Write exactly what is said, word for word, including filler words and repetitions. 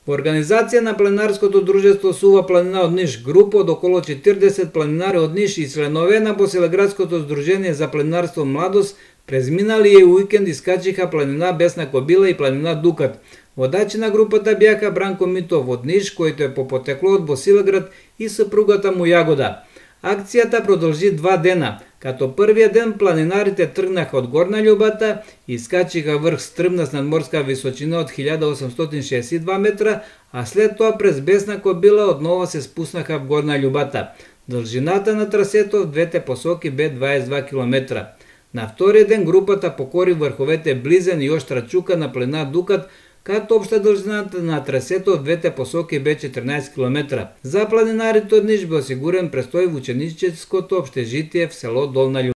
Во организација на планинарското друштво Сува планина од Ниш, група од околу четиридесет планинари од Ниш и членове на Босилеградското здружение за планинарство Младост през миналиот уикенд искачиха планина Бесна Кобила и планина Дукат. Водачи на групата бяха Бранко Митов од Ниш, којто е по потекло од Босилеград, и сопругата му Јагода. Акцијата продолжи два дена, като првиот ден планинарите тргнаха од Горна Љубата и искачиха врх стрмна с надморска височина од илјада осумстотини шеесет и два метра, а след тоа през Бесна Кобила однова се спуснаха в Горна Љубата. Држината на трасето в двете посоки бе дваесет и два километра. На вториот ден групата покори врховете Близен и Оштра Чука на планина Дукат, като општа држината на трасето од двете посоки бе четрнаесет километра. За планинарите од Ниш бе осигурен престој во ученическото општежитие в село Долна Љубата.